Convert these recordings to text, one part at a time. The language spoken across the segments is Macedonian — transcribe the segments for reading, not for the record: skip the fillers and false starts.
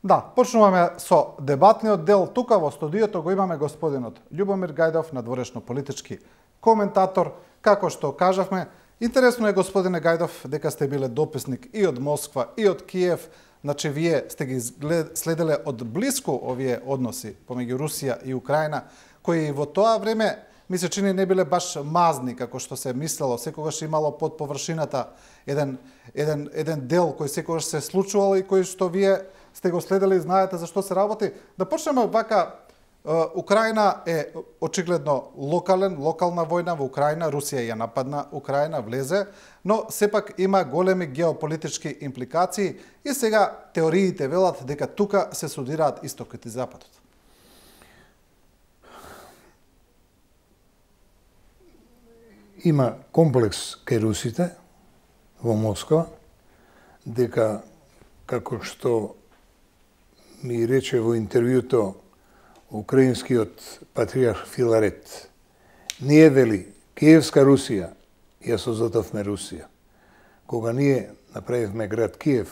Да, почнуваме со дебатниот дел. Тука во студиото го имаме господинот Љубомир Гајдов, надворешно-политички коментатор. Како што кажавме, интересно е, господине Гајдов, дека сте биле дописник и од Москва, и од Киев. Значи, вие сте ги следеле од блиску овие односи помеѓу Русија и Украина, кои во тоа време, ми се чини, не биле баш мазни, како што се мислело. Секогаш имало под површината еден дел кој секогаш се случувал и кој што вие сте го следели и знаете за што се работи. Да почнеме вака. Украина е очигледно локална војна во Украина, Русија ја нападна Украина, влезе, но сепак има големи геополитички импликации и сега теориите велат дека тука се судираат истокот и западот. Има комплекс кај русите во Москва, дека, како што ми рече во интервјуто украинскиот патриарх Филарет, ние, вели, Киевска Русија, ја создадовме Русија. Кога ние направивме град Киев,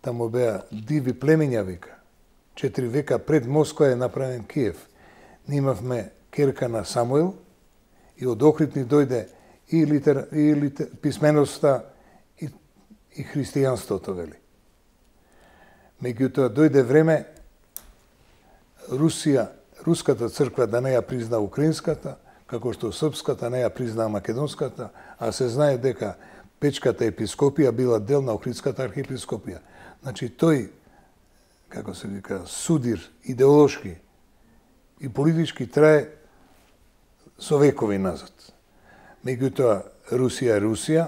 таму беа диви племиња, века. 4 века пред Москва е направен Киев. Ние имавме керка на Самуил и од Охрид ни дојде и писменоста и христијанството, вели. Меѓутоа дојде време руската црква да не ја призна украинската, како што српската не ја призна македонската, а се знае дека Печката епископија била дел на Охридската архиепископија. Значи тој, како се вика, судир идеолошки и политички трае со векови назад. Меѓутоа Русија е Русија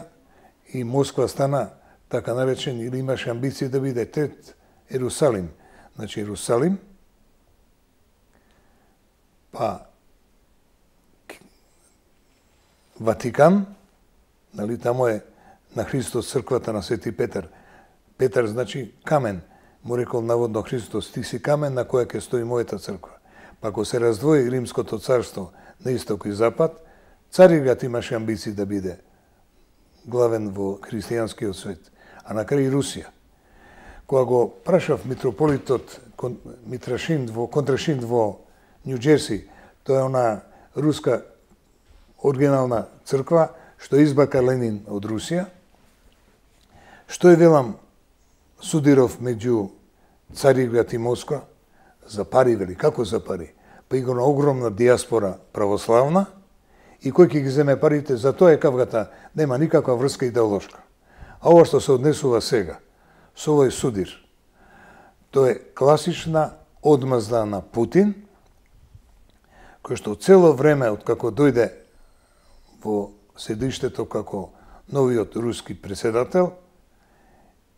и Москва стана така наречен, или имаше амбиција да биде трет Ерусалим. Значи Ерусалим, па Ватикан, нали, тамо е на Христос црквата на Свети Петар. Петар значи камен. Му рекол наводно Христос, ти си камен на која ќе стои мојата црква. Па ако се раздвои Римското царство на исток и запад, Цариград имаше амбиции да биде главен во христијанскиот свет, а на крај Русија. Кога го прашав митрополитот Контрашинд во Нью Джерси, тоа е она руска оригинална црква што избака Ленин од Русија. Што е, велам, судиров меѓу Цариград и Москва? За пари, вели. Како за пари? Па има огромна диаспора православна и кој ќе ги земе парите, за тоа е кавгата, нема никаква врска идеолошка. А ова што се однесува сега, со овој судир, тоа е класична одмазда на Путин, кој што цело време, откако дојде во седиштето како новиот руски председател,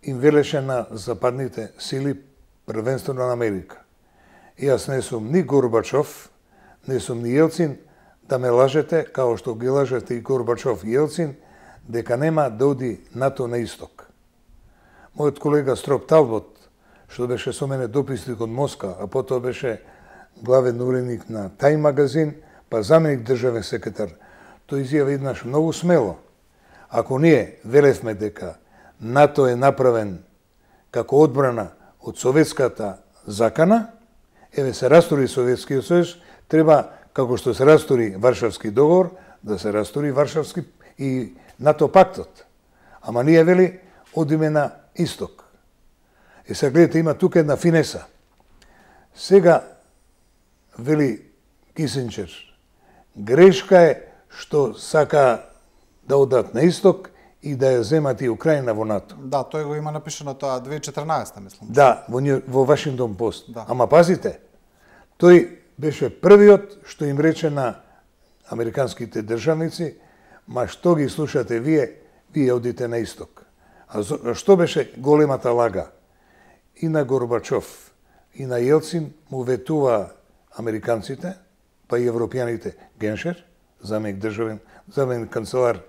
им велеше на западните сили, првенствено на Америка. И јас не сум ни Горбачов, не сум ни Јелцин, да ме лажете, као што ги лажете и Горбачов и Јелцин, дека нема да оди НАТО на исток. Мојот колега Строп Талбот, што беше со мене дописник од Москва, а потоа беше главен уредник на Тај магазин, па заменик државен секретар, тој изјави еднаш многу смело. Ако ние велевме дека НАТО е направен како одбрана од советската закана, еве се растури Советскиот сојуз, треба, како што се растури Варшавски договор, да се растури Варшавски и НАТО пактот. Ама ние, вели, одиме на исток. И сега гледате, има тука една финеса. Сега, вели Кисинџер, грешка е што сака да одат на исток и да ја земат и Украина во НАТО. Да, тој го има напишано тоа 2014, мислам. Да, во Вашингтон Пост. Да. Ама пазите, тој беше првиот што им рече на американските државници, ма што ги слушате вие одите на исток. А што беше големата лага? И на Горбачов, и на Јелцин му ветува американците, па и европјаните, Геншер, заменик канцелар,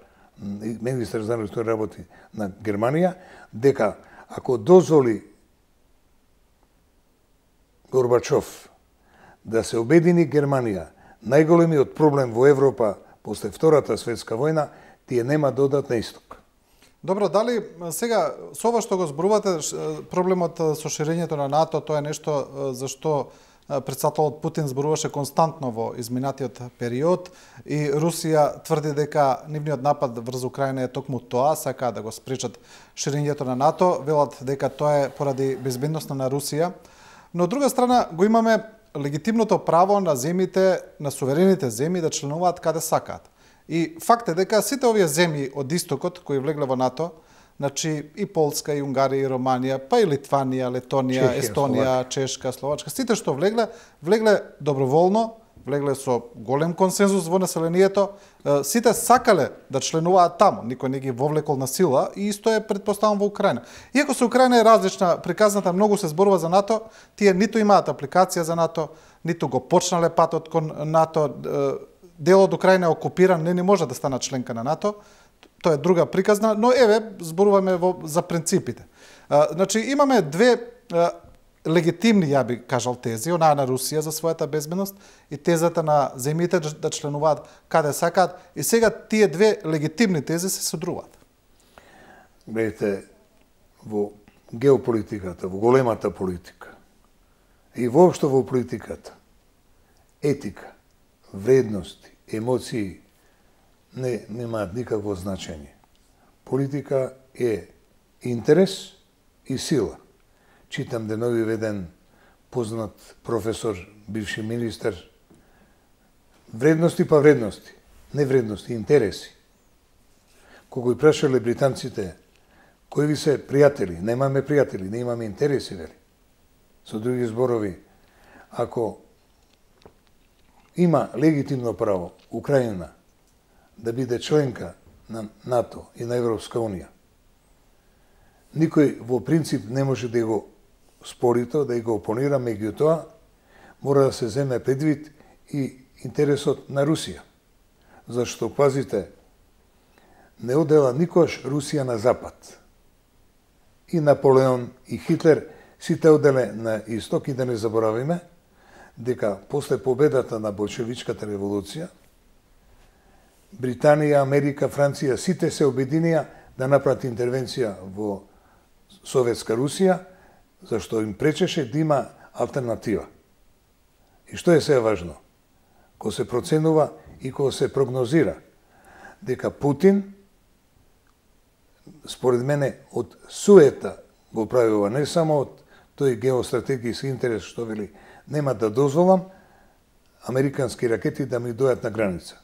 министер за външни работи на Германија, дека ако дозволи Горбачов да се обедини Германија, најголемиот проблем во Европа после Втората светска војна, тие нема да одат на исток. Добро, дали сега со ова што го зборувате проблемот со ширењето на НАТО, тоа е нешто за што председателот Путин зборуваше константно во изминатиот период и Русија тврди дека нивниот напад врз Украина е токму тоа, сака да го спречат ширењето на НАТО, велат дека тоа е поради безбедноста на Русија. Но од друга страна го имаме легитимното право на земјите, на суверените земји да членуваат каде сакаат. И факт е дека сите овие земји од истокот кои влегле во НАТО, значи и Полска, и Унгарија, и Романија, па и Литванија, Летонија, Чехија, Естонија, Чешка, Словачка, сите што влегле доброволно, влегле со голем консензус во населението, сите сакале да членуваат таму, никој не ги вовлекол на сила и исто е претпоставам во Украина. Иако со Украина е различна, приказната многу се зборува за НАТО, тие ниту имаат апликација за НАТО, ниту го почнале патот кон НАТО, дел од Украина е окупиран, не може да стана членка на НАТО. Тоа е друга приказна, но еве зборуваме за принципите. Значи имаме две легитимни, ја би кажал, тези, онаа на Русија за својата безбедност и тезата на земјите да членуваат каде сакаат, и сега тие две легитимни тези се содруваат. Гледате, во геополитиката, во големата политика и воопшто во политиката, етика, вредности, емоции немаат никакво значење. Политика е интерес и сила. Читам денови еден познат професор, бивши министер, вредности па вредности, не вредности, интереси. Кога ги прашале британците, кои ви се пријатели, немаме пријатели, не имаме интереси, вели. Со други зборови, ако има легитимно право Украина да биде членка на НАТО и на Европска Унија, никој во принцип не може да го спори тоа, да го опонира, меѓутоа мора да се земе предвид и интересот на Русија. Зашто, пазите, не одела никош Русија на запад. И Наполеон, и Хитлер, сите оделе на исток, и да не заборавиме дека после победата на болшевичката револуција, Британија, Америка, Франција, сите се обединија да направат интервенција во Советска Русија, зашто им пречеше да има алтернатива. И што е сега важно? Кога се проценува и кога се прогнозира дека Путин, според мене, од суета го прави ова, не само од тој геостратегијски интерес што вели нема да дозволам американски ракети да ми дојат на граница.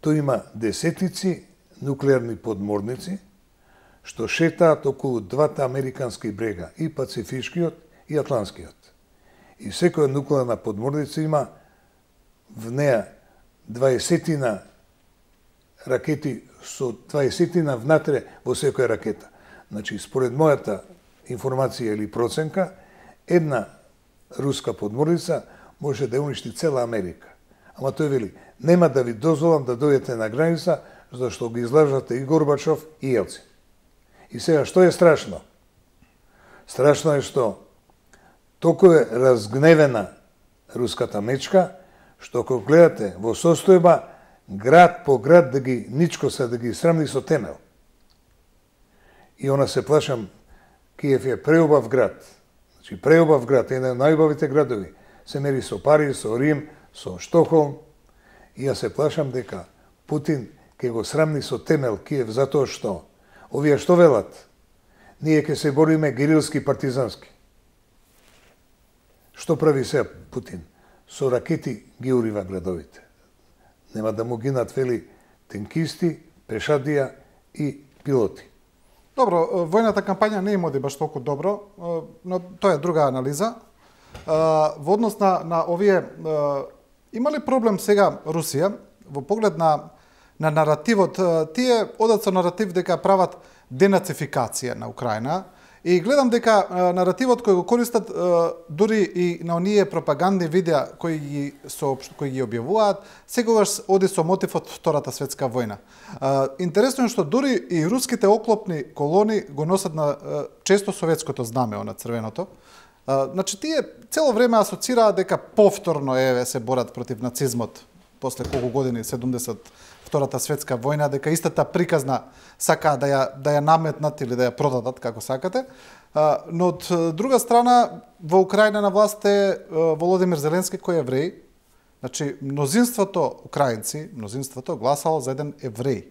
Тој има десетици нуклеарни подморници што шетаат околу двата американски брега, и Пацифичкиот и Атлантскиот. И секоја нуклеарна подморница има в неа 20 ракети со 20 внатре во секоја ракета. Значи, според мојата информација или проценка, една руска подморница може да уништи цела Америка. Ама тој вели, нема да ви дозволам да дојдете на граница, зашто ги излажате и Горбачов и Елцин. И сега, што е страшно? Страшно е што толку е разгневена руската мечка, што кога гледате во состојба град по град да ги ничкоса, да ги срамни со темел. И она се плашам, Киев е преубав град. Значи, преубав град, еден од најубавите градови. Се мери со Париз, со Рим, со Штокхолм. И ја се плашам дека Путин ќе го срамни со темел Киев затоа што овие што велат? Ние ќе се бориме герилски партизански. Што прави сега Путин? Со ракети ги урива градовите. Нема да му гинат, вели, тенкисти, пешадија и пилоти. Добро, војната кампања не им оди баш толку добро, но тоа е друга анализа. Во однос на овие, има ли проблем сега Русија во поглед на наративот? Тие одат со наратив дека прават денацификација на Украина и гледам дека наративот кој го користат дури и на оние пропагандни видеа кои ги објавуваат, секогаш оди со мотивот Втората светска војна. Интересно е што дури и руските оклопни колони го носат на често советското знаме, на црвеното. Значи, тие цело време асоцираат дека повторно се борат против нацизмот. после колку години, 72-та светска војна, дека истата приказна сакаа да ја наметнат или да ја продадат, како сакате. Но од друга страна, во Украина на власт е Володимир Зеленски, кој е евреј. Значи, мнозинството украинци, гласало за еден евреј.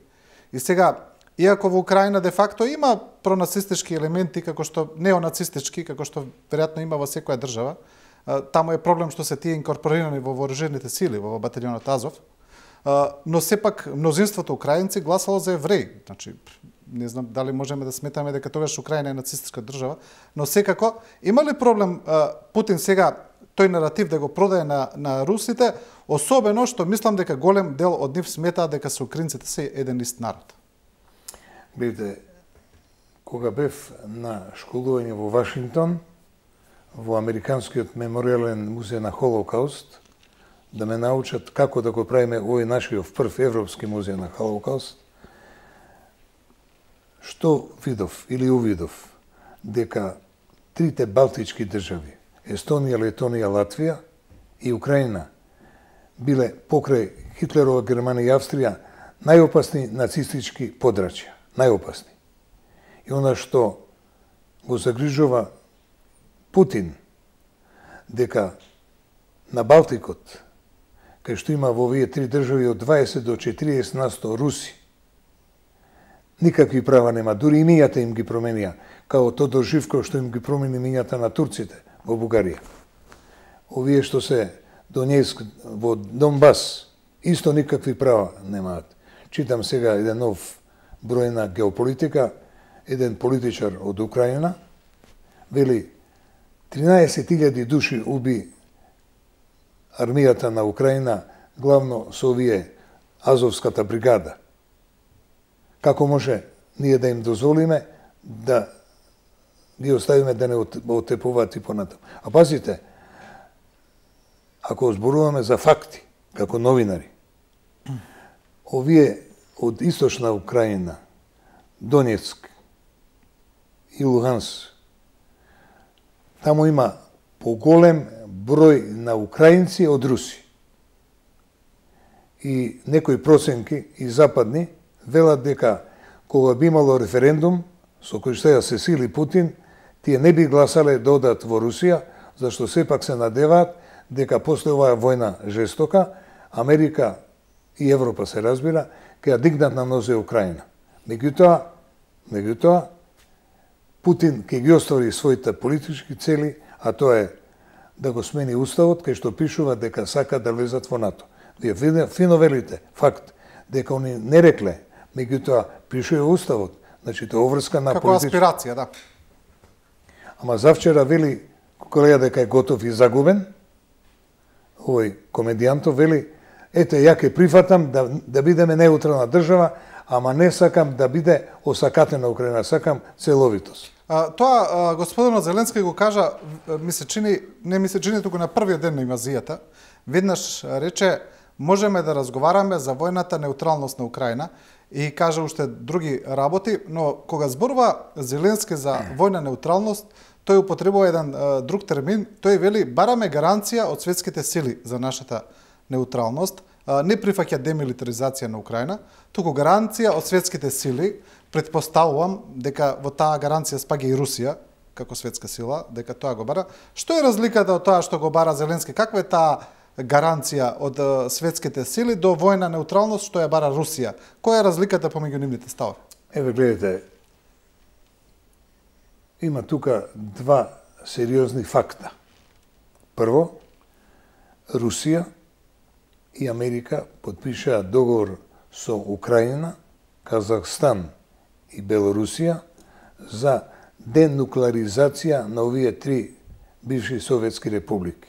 И сега, иако во Украина де факто има пронацистички елементи, како што неонацистички, како што веројатно има во секоја држава, таму е проблем што се тие инкорпорирани во вооружените сили, во баталионот Азов, но сепак мнозинството украинци гласало за евреи. Значи, не знам дали можеме да сметаме дека тогаш Украина е нацистичка држава, но секако има ли проблем Путин сега тој наратив да го продае на русите, особено што мислам дека голем дел од нив сметаа дека се украинците се еден ист народ. Гледате, кога бев на школување во Вашингтон, во Американскиот меморијален музеј на Холокауст, да ме научат како да го правиме овој нашиот прв европски музеј на Холокауст, што видов или увидов дека трите балтички држави, Естонија, Летонија, Латвија и Украина, биле покрај Хитлерова Германија и Австрија најопасни нацистички подрачја, најопасни. И она што го загрижува Путин, дека на Балтикот, кај што има во овие три држави од 20 до 40% руси, никакви права нема, дури и мињата им ги променија, као Тодор Живков што им ги промени мињата на турците во Бугарија. Овие што се Донецк во Донбас, исто никакви права немаат. Читам сега еден нов број на Геополитика, еден политичар од Украина, вели 13.000 души уби армијата на Украина, главно со овие Азовската бригада. Како може ние да им дозволиме да ги оставиме да не отепуваат и понатаму? А пазите, ако зборуваме за факти, како новинари, овие од источна Украина, Донецк и Луганск, таму има поголем број на украинци од руси. И некои проценки и западни велат дека кога би имало референдум со кој што ја се сили Путин, тие не би гласале да одат во Русија, зашто сепак се надеваат дека после оваа војна жестока, Америка и Европа се разбира, ќе ја дигнат на нозе Украина. Меѓутоа, Путин ќе ги оствари своите политички цели, а тоа е да го смени уставот, кај што пишува дека сака да влезат во НАТО. Вие фино велите, факт, дека они не рекле, меѓутоа пишува уставот, значи тоа оврска на како аспирација, да. Ама завчера вели колега дека е готов и загубен, овој комедијантов вели, ете, ја ќе прифатам да бидеме неутрална држава, ама не сакам да биде осакатена Украина, сакам целовитост. Тоа господинот Зеленски го кажа, не ми се чини туку на првиот ден на инвазијата, веднаш рече, можеме да разговараме за војната неутралност на Украина и кажа уште други работи, но кога зборува Зеленски за војна неутралност, тој употребува еден друг термин, тој вели бараме гаранција од светските сили за нашата неутралност, не прифаќа демилитаризација на Украина, туку гаранција од светските сили. Предпоставувам дека во таа гаранција спаѓа и Русија како светска сила, дека тоа го бара. Што е разликата од тоа што го бара Зеленски? Каква е таа гаранција од светските сили до војна неутралност што ја бара Русија? Која е разликата помеѓу нивните ставови? Еве гледате, има тука два сериозни факта. Прво, Русија и Америка подпишаа договор со Украина, Казахстан и Белорусија за денуклеаризација на овие три бивши советски републики.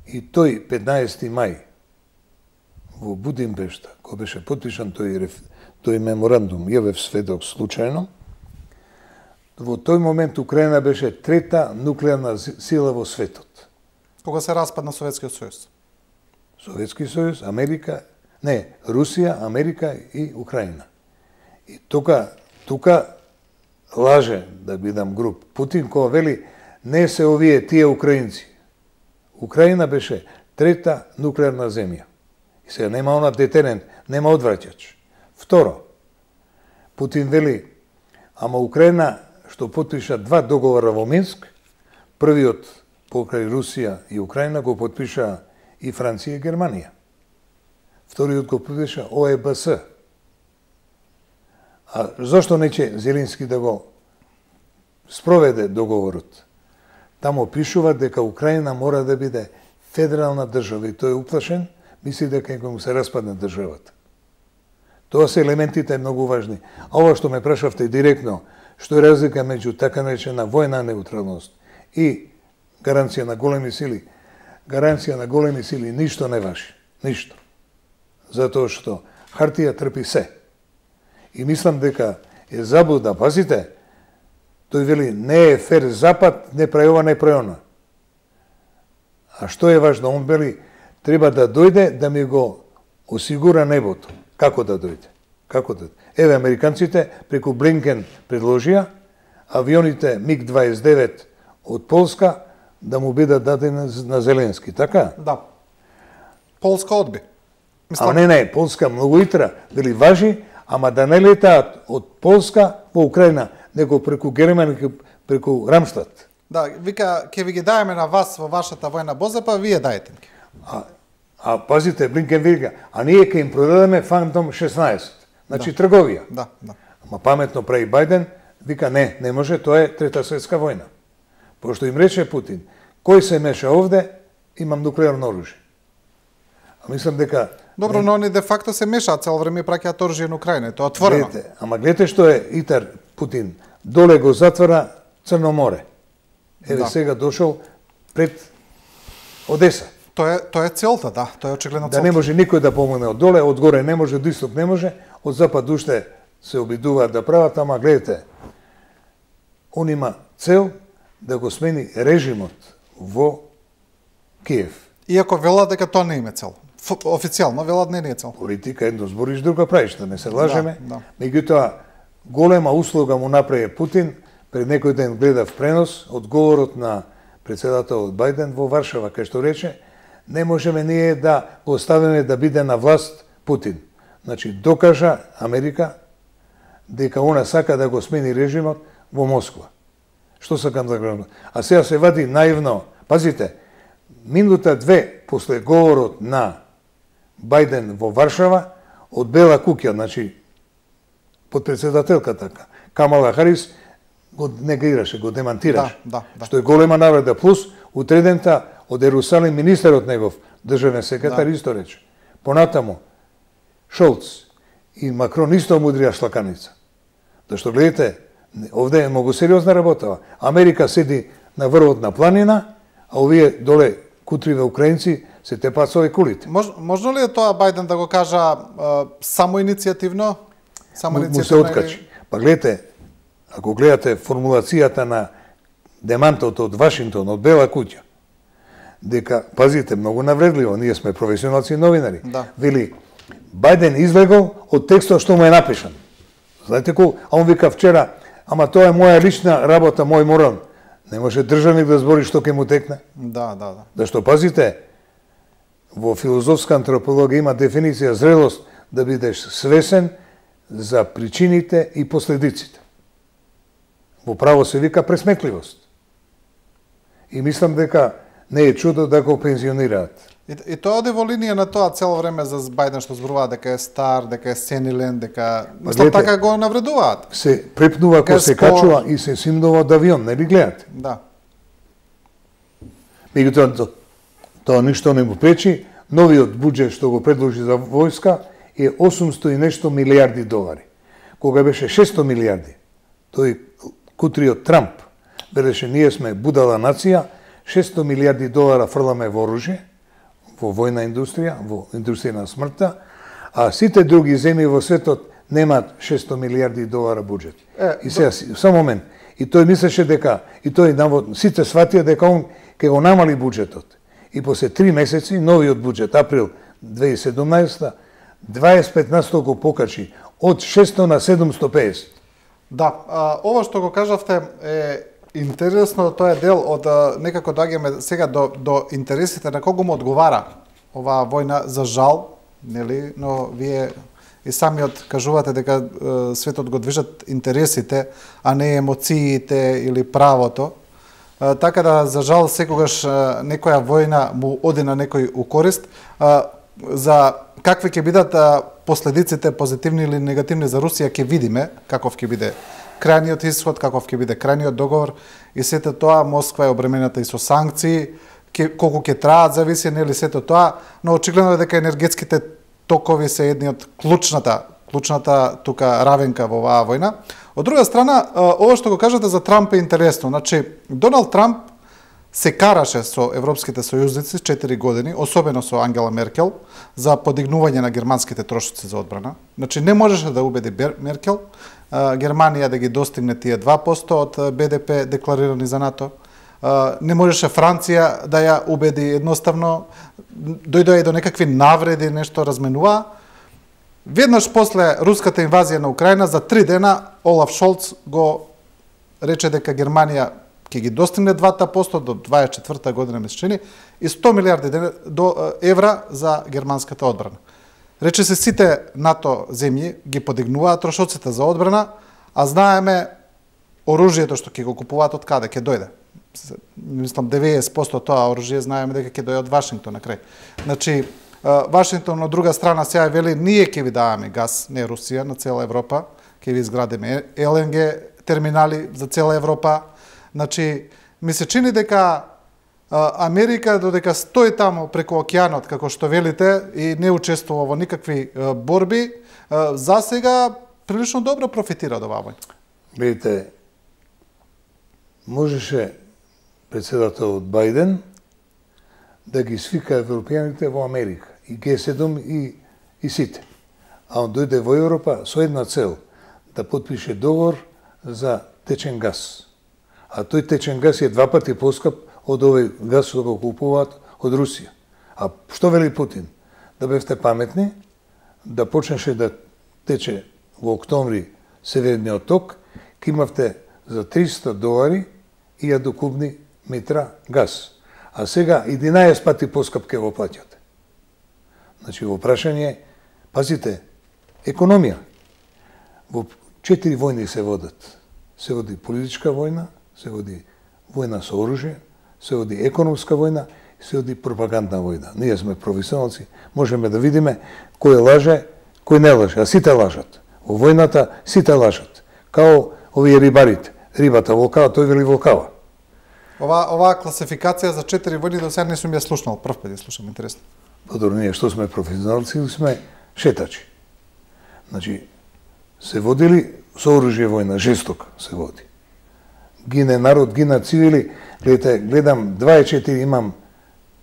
И тој 15. мај во Будимпешта, кој беше потпишан тој меморандум, јавев сведок случајно, во тој момент Украина беше трета нуклеарна сила во светот. Кога се распадна Советскиот сојуз? Советски сојуз, Америка, не, Русија, Америка и Украина. И тука лаже, да бидам груб, Путин кога вели не се овие тие украинци. Украина беше трета нуклеарна земја. И сега нема она детерент, нема одвраќач. Второ, Путин вели, ама Украина што потпиша 2 договора во Минск, првиот покрај Русија и Украина го потпиша и Франција и Германија. Вториот го потпиша ОЕБС. А зошто нече Зеленски да го спроведе договорот? Тамо пишува дека Украина мора да биде федерална држава и тој е уплашен, мисли дека ќе му се распадне државата. Тоа се елементите многу важни. А ова што ме прашавте директно, што е разлика меѓу така наречена војна неутралност и гаранција на големи сили? Гаранција на големи сили ништо не важи. Ништо. Затоа што хартија трпи се. И мислам дека е заблуда, пазите, тој вели не е фер Запад, не прави ова, не прави она. А што е важно? Он вели треба да дојде да ми го осигура небото. Како да дојде? Како да дојде? Еве, американците преку Блинкен предложија авионите МиГ-29 од Полска да му бидат дадени на Зеленски, така? Да. Полска одби. А не, Полска многу итра, дали важи, ама да не летаат од Полска во Украина, него преку Германија, преку Рамштат. Да, вика, ќе ви ги даеме на вас во вашата војна боза, па вие дајте ги. А пазите, Блинкен вика, а ние ќе им продадеме Фантом 16. Значи трговија. Да, да. Ама паметно прави Бајден, вика не може, тоа е Трета светска војна. Пошто им рече Путин, кој се меша овде, имам нуклеарно оружје. А мислам дека... Добро, но они де факто се мешаат цело време и праќаат оружје на Украина, тоа отворено. Ама гледате што е Итар Путин, доле го затвара Црно море. Еве сега дошол пред Одеса. Тоа е целта, да, тоа е очигледно целта. Да не може никој да помогне од доле, од горе не може, од исток не може, од запад уште се обидуваат да прават, ама гледате, он има цел да го смени режимот во Киев. Иако велат дека тоа не има цел. Официјално велат не е цел. Политика едно збориш, друга правиш, да не се лажеме. Да. Меѓутоа, голема услуга му направи Путин. Пред некој ден гледав пренос од говорот на председателот Бајден во Варшава, кај што рече, не можеме ние да го оставиме да биде на власт Путин. Значи, докажа Америка дека она сака да го смени режимот во Москва. Што сакам да кажам? А сега се вади наивно. Пазите, минута 2 после говорот на Бајден во Варшава, од Бела куќа, значи, подпредседателка така, Камала Харис, го негираше, го демантираше. Да. Што е голема навреда. Плюс, утредента од Ерусалим министерот негов, државен секретар, исто рече. Понатаму, Шолц и Макрон исто мудрија шлаканица. Зашто гледате, овде е многу сериозна работа. Америка седи на врвот на планина, а овие доле кутриве украинци се тепаат со кулите. Можно ли е тоа Бајден да го кажа самоиницијативно? Му се откачи. Па гледате, ако гледате формулацијата на демантот од Вашингтон, од Бела куќа, дека, пазите, многу навредливо, ние сме професионалци новинари, вели, Бајден излегол од текстот што му е напишан. Знаете кој? А он вика вчера, ама тоа е моја лична работа, мој морал. Не може државник да збори што ќе му текне. Да. Зашто, пазите, во филозофска антропологија има дефиниција зрелост да бидеш свесен за причините и последиците. Во право се вика пресметливост. И мислам дека не е чудо да го пензионираат. И тоа оди во линија на тоа цело време за Бајден што зборува дека е стар, дека е сенилен, дека мислам така го навредуваат. Се препнува кога се качува и се симнува од авион, не ли гледате? Да. Меѓутоа тоа ништо не му пречи. Новиот буџет што го предложи за војска е 800 и нешто милиарди долари. Кога беше 600 милиарди, тој кутриот Трамп велеше ние сме будала нација, 600 милиарди долара фрламе во оружје, во војна индустрија, во индустрија на смртта, а сите други земји во светот немаат 600 милиарди долара буџет. И сега, само момент, и тој мислеше дека, и тој сите сватија дека он ќе го намали буџетот. И после 3 месеци, новиот буџет, април 2017, 25% го покачи, од 600 на 750. Да, ова што го кажавте е интересно, тоа е дел од некако доаѓаме сега до интересите на кого му одговара оваа војна, за жал, нели, но вие и самиот кажувате дека светот го движат интересите, а не емоциите или правото. Така да, за жал, секогаш некоја војна му оди на некој у корист. За какви ќе бидат последиците, позитивни или негативни за Русија, ќе видиме каков ќе биде крајниот исход, каков ќе биде крајниот договор и сето тоа. Москва е обременета и со санкции, колку ќе траат, зависи, нели, сето тоа, но очигледно е дека енергетските токови се едни од клучната тука равенка во оваа војна. Од друга страна, ова што го кажате за Трамп е интересно. Значи, Доналд Трамп се караше со европските сојузници 4 години, особено со Ангела Меркел, за подигнување на германските трошоци за одбрана. Значи, не можеше да убеди Меркел Германија да ги достигне тие 2% од БДП декларирани за НАТО. Не можеше Франција да ја убеди едноставно, дојдоа и до некакви навреди, нешто разменува. Веднаш после руската инвазија на Украина, за 3 дена Олаф Шолц го рече дека Германија ќе ги достигне 2% до 24 година, ме се чини, и 100 милиарди евра за германската одбрана. Рече се сите НАТО земји ги подигнуваат трошоците за одбрана, а знаеме оружјето што ќе го купуваат од каде ќе дојде. Мислам 90% тоа оружје знаеме дека ќе дојде од Вашингтон на крај. Значи, Вашингтон од друга страна сега вели ние ќе ви даваме газ, не Русија, на цела Европа, ќе ви изградиме ЛНГ терминали за цела Европа. Значи, ми се чини дека Америка додека стои таму преку океанот, како што велите, и не учествува во никакви борби, за сега прилично добро профитира од оваа војна. Видите, можеше председателот Бајден да ги свика европјаните во Америка, и Г7 и сите. А он дојде во Европа со една цел, да подпише договор за течен газ. А тој течен газ е 2 пати поскап од овој газ што го купуваат од Русија. А што вели Путин? Да бевте паметни, да почнеше да тече во октомври Северниот ток, ке имавте за $300 1000 кубни метра газ. А сега 11 пати поскап ке го плаќате. Значи, во прашање, пазите, економија. Во 4 војни се водат. Се води политичка војна, се води војна со оружје, се води економска војна и се води пропагандна војна. Ние сме професионалци, можеме да видиме кој лаже, кој не лаже, а сите лажат. Во војната сите лажат. Као овие рибарите. Рибата волкава, тој вели волкава. Оваа класификација за 4 војни до сега не сум ја слушнал, прв пат ја слушам, интересно. Подобро, ние што сме професионалци или сме шетачи. Значи, се водили со оружје војна, жесток се води. Гине народ, гина цивили, гледам 24, имам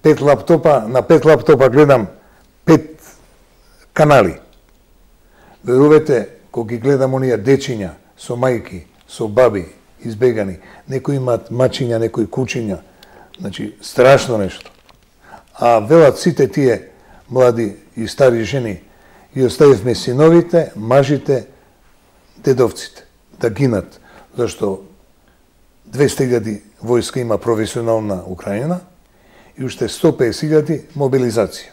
5 лаптопа, на 5 лаптопа гледам 5 канали. Верувате, кога ги гледам оние дечиња со мајки, со баби, избегани, некои имаат мачиња, некои кучиња, значи страшно нешто. А велат сите тие млади и стари жени, и оставивме синовите, мажите, дедовците да гинат, зашто 200.000 војска има професионална Украина и уште 150.000 мобилизација.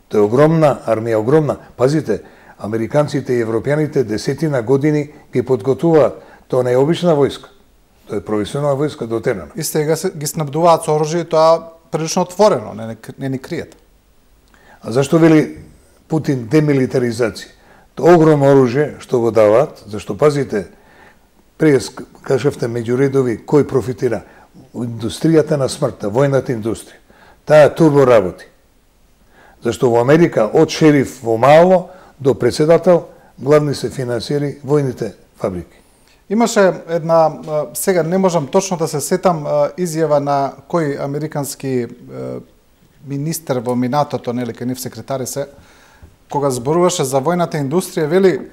Тоа е огромна армија, огромна. Пазите, американците и европјаните десетина години ги подготвуваат. Тоа не е обична војска. Тоа е професионална војска дотерана. И сега ги снабдуваат со оружје, тоа прилично отворено, не ни криет. А зашто вели Путин демилитаризација? Тоа огромно оружје што го даваат, зашто пазите, през кажавте меѓу редови кој профитира? Индустријата на смртта, војната индустрија. Таа турбо работи. Зашто во Америка од шериф во мало до председател главни се финансиери војните фабрики. Имаше една, сега не можам точно да се сетам, изјава на кој американски министер во минатото, нели, кај нив секретари се, кога зборуваше за војната индустрија, вели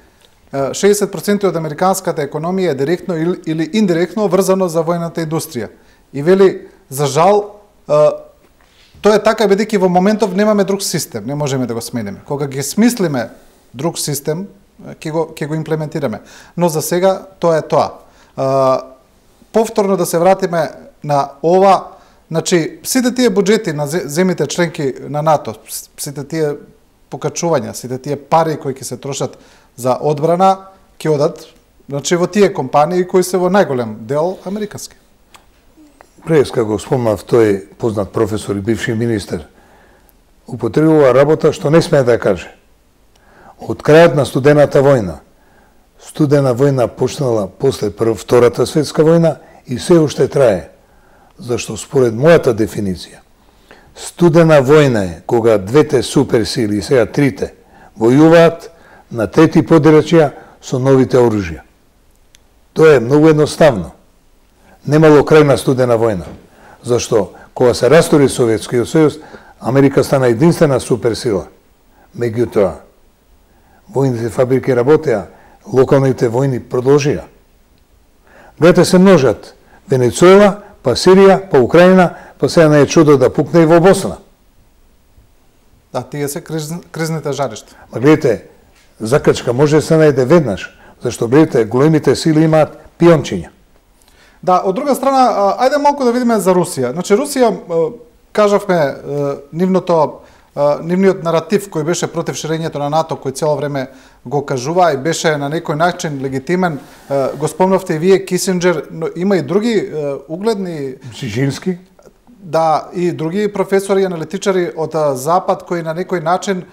60% од американската економија е директно или индиректно врзано за војната индустрија. И вели, за жал, тоа е така бидејќи во моментов немаме друг систем, не можеме да го смениме. Кога ги смислиме друг систем, ќе го имплементираме. Но за сега тоа е тоа. Повторно да се вратиме на ова, значи сите тие буџети на земите членки на НАТО, сите тие покачувања, сите тие пари кои ќе се трошат за одбрана, ќе одат значи во тие компании кои се во најголем дел американски. Преска го спомнав, тој познат професор и бивши министер, употребува работа што не смее да каже. Од крајот на студената војна, студена војна почнала после Втората светска војна и се уште трае, зашто според мојата дефиниција, студена војна е кога двете суперсили, сега трите, војуваат на трети подрачја со новите оружја. Тоа е многу едноставно. Немало крај на студена војна, зашто кога се растори Советскиот сојуз, Америка стана единствена суперсила. Меѓутоа, војните фабрики работеа, локалните војни продолжија. Гледате се множат. Венецуела, па Сирија, па Украина, па сега не е чудо да пукне и во Босна. Да, тие се кризните жаришта. Ма гледате, закачка може да се најде веднаш, зашто гледате, големите сили имаат пиончиња. Да, од друга страна, ајде малку да видиме за Русија. Значи, Русија, кажавме, нивниот наратив кој беше против ширењето на НАТО, кој цело време го кажува и беше на некој начин легитимен, го спомнавте и вие, Кисинџер, но има и други угледни... Бжезински? Да, и други професори и аналитичари од Запад кои на некој начин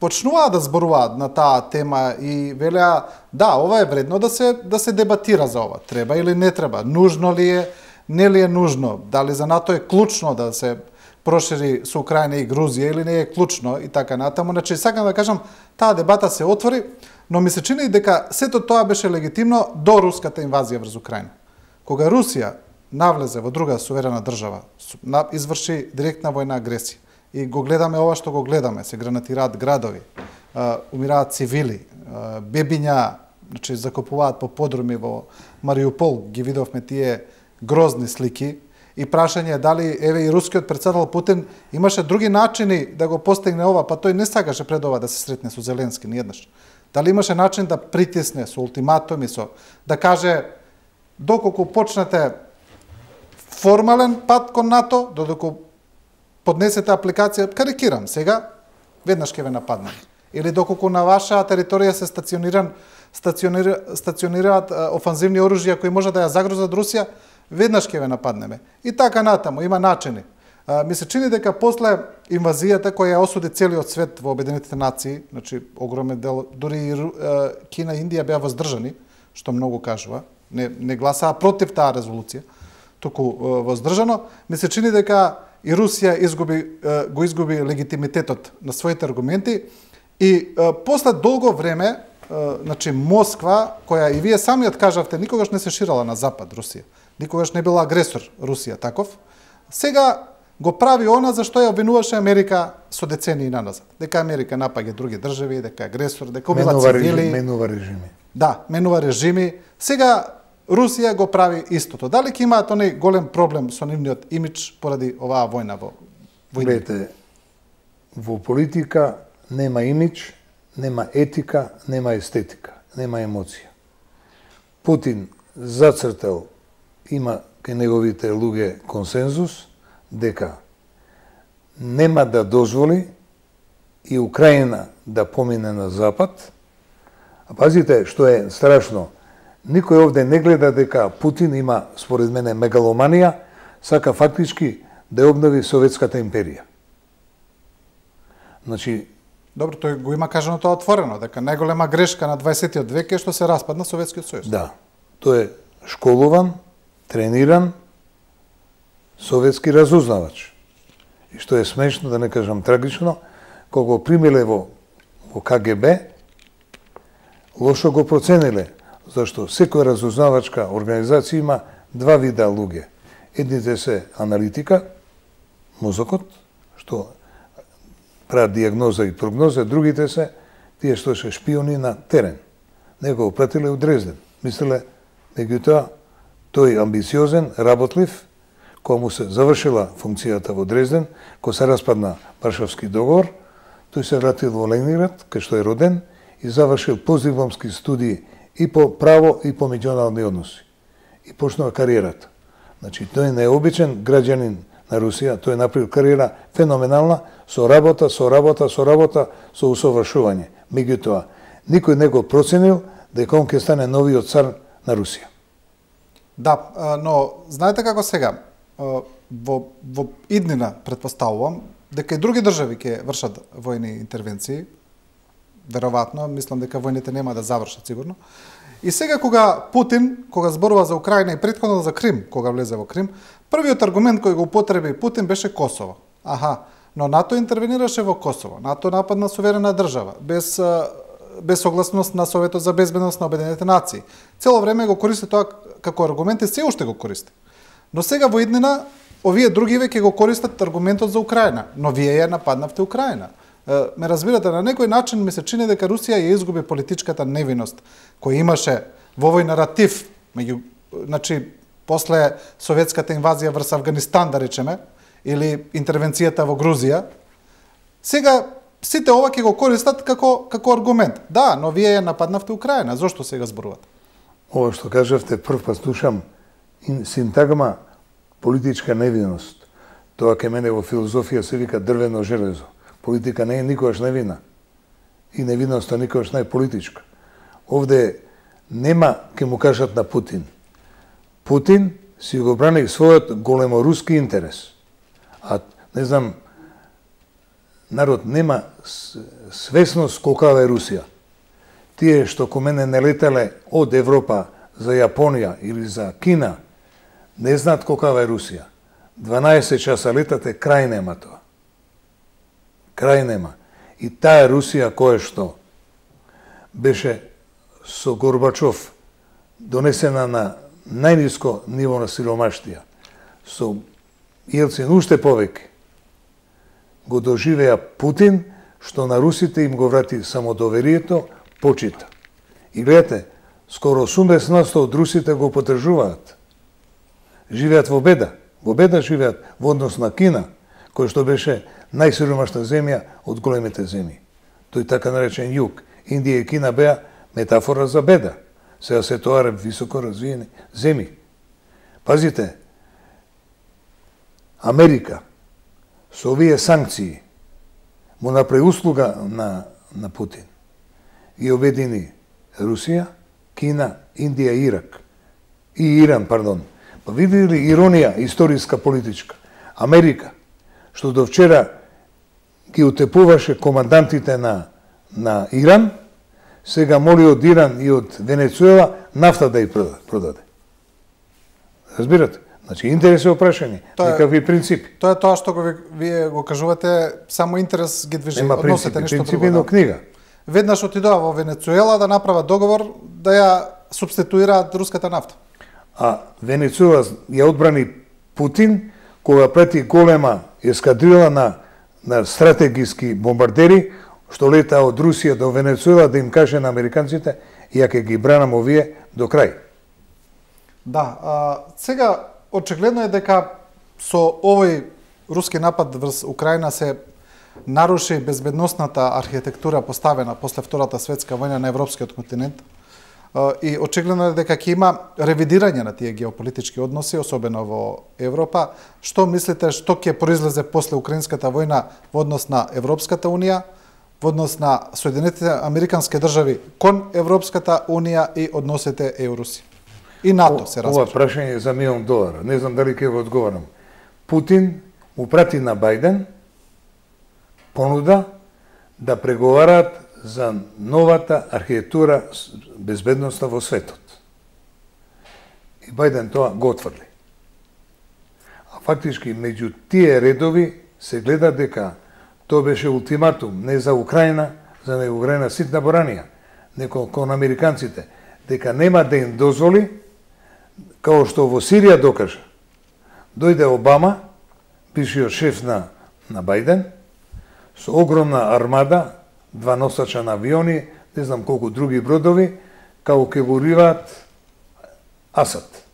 почнуваа да зборуваат на таа тема и велеа, да, ова е вредно да се дебатира за ова. Треба или не треба? Нужно ли е? Не ли е нужно? Дали за НАТО е клучно да се прошири со Украина и Грузија или не е клучно и така натаму. Значи, сакам да кажам, таа дебата се отвори, но ми се чини дека сето тоа беше легитимно до руската инвазија врз Украина. Кога Русија навлезе во друга суверена држава, изврши директна војна агресија и го гледаме ова што го гледаме, се гранатираат градови, умираат цивили, бебиња, значи закопуваат по подруми во Мариупол, ги видовме тие грозни слики, и прашање дали еве и рускиот председател Путин имаше други начини да го постигне ова, па тој не сакаше пред ова да се сретне со Зеленски ниеднаш. Дали имаше начин да притисне со ултиматуми, да каже доколку почнете формален пат кон НАТО, додека поднесете апликација, карикирам сега, веднаш ќе ве нападнем. Или доколку на ваша територија се стационираат офанзивни оружја кои може да ја загрозат Русија, веднаш ќе ве нападнеме. И така натаму, има начини. Ми се чини дека после инвазијата која ја осуди целиот свет во Обединетите нации, значи огромен дел, дури и Кина и Индија беа воздржани, што многу кажува, не гласаа против таа резолуција, туку воздржано, ми се чини дека и Русија го изгуби легитимитетот на своите аргументи и после долго време, значи Москва, која и вие самиот кажавте, никогаш не се ширала на запад Русија, никогаш не била агресор Русија таков, сега го прави она за што ја обвинуваше Америка со децении наназад. Дека Америка напаѓа други држави, дека агресор, дека убива цивили. Менува режими. Да, менува режими. Сега Русија го прави истото. Дали ќе имаат оној голем проблем со нивниот имидж поради оваа војна во Гледате, во политика нема имидж, нема етика, нема естетика, нема емоција. Путин зацртал, има кај неговите луѓе консензус, дека нема да дозволи и Украина да помине на Запад. А пазите, што е страшно, никој овде не гледа дека Путин има, според мене, мегаломанија, сака фактички да ја обнови Советската империја. Значи, добро, тој го има кажано тоа отворено, дека најголема грешка на 20-тиот век е што се распадна Советскиот сојуз. Да, тој е школуван, трениран, советски разузнавач. И што е смешно, да не кажам трагично, кога го примиле во КГБ, лошо го процениле, зашто секоја разузнавачка организација има два вида луѓе. Едните се аналитика, мозокот, што прават диагноза и прогноза, другите се тие што се шпиони на терен. Него го пратиле у Дрезден. Мислеле, меѓутоа, тој амбициозен, работлив, кога му се завршила функцијата во Дрезден, кога се распадна Варшавски договор, тој се вратил во Ленинград, кај што е роден, и завршил постдипломски студии и по право и по меѓународни односи. И почнува кариерата. Значи, тој е необичен граѓанин на Русија, тој направил кариера феноменална, со работа, со усовршување. Меѓутоа, никој не го проценил дека он ќе стане новиот цар на Русија. Да, но знаете како сега, во иднина предпоставувам дека и други држави ќе вршат војни интервенции, веројатно, мислам дека војните нема да завршат сигурно. И сега кога зборува за Украина и претходно за Крим, кога влезе во Крим, првиот аргумент кој го употреби Путин беше Косово. Но НАТО интервенираше во Косово. НАТО нападна суверена држава, без согласност на Советот за безбедност на Обединетите нации. Цело време го користи тоа како аргумент и се уште го користи. Но сега во иднина, овие другиве ќе го користат аргументот за Украина. Но вие ја нападнавте Украина. Ме разбирате, на некој начин ми се чини дека Русија ја изгуби политичката невиност која имаше во овој наратив, значи, после советската инвазија врз Авганистан, да речеме, или интервенцијата во Грузија. Сега сите ова ќе го користат како аргумент. Да, но вие ја нападнавте Украина. Зошто сега зборувате? Ова што кажавте, прв пат слушам синтагма политичка невиност. Тоа ке мене во филозофија се вика дрвено железо. Политика не е никогаш невина. И невиноста никогаш не е политичка. Овде нема, ке му кажат на Путин. Путин си го брани својот големоруски интерес. А, не знам, народ нема свесност колкава е Русија. Тие што ко мене не летале од Европа за Јапонија или за Кина, не знаат колкава е Русија. 12 часа летате, крај нема тоа. Крај нема. И таа Русија која што беше со Горбачов донесена на најниско ниво на сиромаштија, со Јелцин уште повеќе, го доживеа Путин, што на русите им го врати самодоверието, почита. И гледате, скоро 80% од русите го поддржуваат. Живеат во беда живеат во однос на Кина, кој што беше најсиромашна земја од големите земји. Тој така наречен југ. Индија и Кина беа метафора за беда. Сега се тоа високо развиени земји. Пазите, Америка со овие санкции му направи услуга на Путин. И обедини Русија, Кина, Индија и Ирак. И Иран, пардон. Па видели ли иронија историска политичка? Америка, што до вчера ги утепуваше командантите на Иран, сега моли од Иран и од Венецуела нафта да ја продаде. Разбирате? Значи, интерес е опрашање, некакви принципи. Тоа е тоа што вие го кажувате, само интерес ги движи, односите нешто друго. Принципи на книга. Веднаш отидоа во Венецуела да направат договор да ја субституираат руската нафта. А Венецуела ја одбрани Путин, кога прети голема ескадрила на стратегиски бомбардери, што лета од Русија до Венецуела да им каже на американците, ја ќе ги бранам овие до крај. Да, сега очигледно е дека со овој руски напад врз Украина се наруши безбедносната архитектура поставена после Втората светска војна на европскиот континент. И очигледно е дека ќе има ревидирање на тие геополитички односи, особено во Европа. Што мислите, што ќе произлезе после Украинската војна во однос на Европската унија, во однос на Соединетите Американски држави кон Европската унија и односите ЕУ-Русија? И НАТО се разбира. Ова прашање за $1 милион. Не знам дали ќе го одговорам. Путин му прати на Бајден понуда да преговараат за новата архитектура безбедноста во светот. И Бајден тоа го отврли. А фактички, меѓу тие редови се гледа дека тоа беше ултиматум не за Украина, за не Украина ситна боранија, неко кон американците, дека нема да им дозволи, као што во Сирија докажа. Дојде Обама, бившиот шеф на Бајден, со огромна армада, 2 носача на авиони, не знам колку други бродови, као ке го уриваат Асад.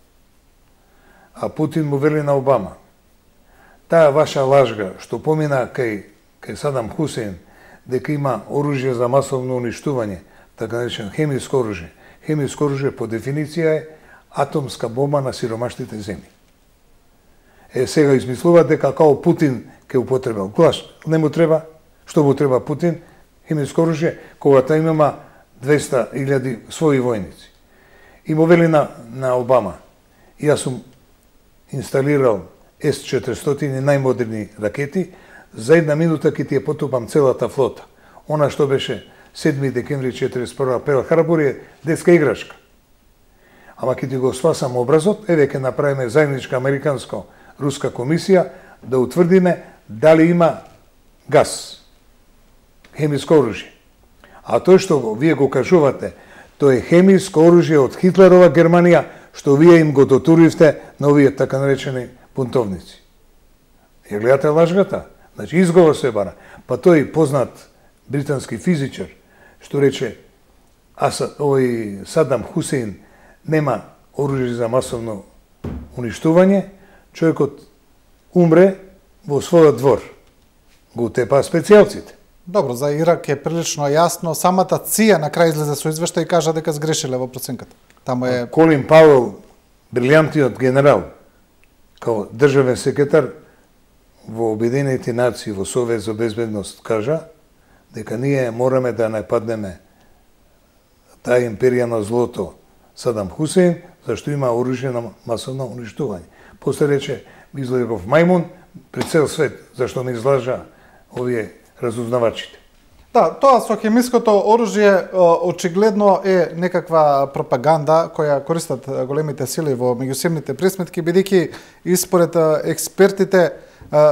А Путин му вели на Обама: таа ваша лажга, што помина кај Садам Хусейн, дека има оружје за масовно уништување, така наречен хемиско оружје. Хемиско оружје по дефиниција е атомска бомба на сиромашните земји. Сега измислуваат дека као Путин ќе употребил. Клаш, не му треба, што му треба Путин, хемиско оружје, кога та имама 200.000 своји војници. И му вели на Обама, јас сум инсталирал С-400 најмодерни ракети, за 1 минута ќе ти ја потупам целата флота. Она што беше 7 декември 1941 Перл Харбор е детска играчка. Ама ќе ти го спасам образот, еве ќе направиме заедничка американско-руска комисија да утврдиме дали има газ, хемиско оружје. А тој што вие го кажувате, тоа е хемиско оружје од Хитлерова Германија, што вие им го дотуривте на овие така наречени бунтовници. Ја гледате лажгата? Значи, изговор се бара. Па тој познат британски физичар, што рече, Садам Хусейн нема оружје за масовно уништување, човекот умре во својот двор. Го тепа специјалците. Добро, за Ирак е прилично јасно. Самата ЦИА на крај излезе со извештај и кажа дека сгрешиле во проценката. Таму е Колин Пауел, брилјантниот генерал, као државен секретар во Обединените нации во Совет за безбедност, кажа дека ние мораме да нападнеме таа империја на злото Садам Хусейн, зашто има оружје на масовно уништување. После рече, излегов мајмун пред цел свет, зашто ме излажа овие разузнавачите. Да, тоа со хемиското оружје очигледно е некаква пропаганда која користат големите сили во меѓусебните пресметки, бидејќи и според експертите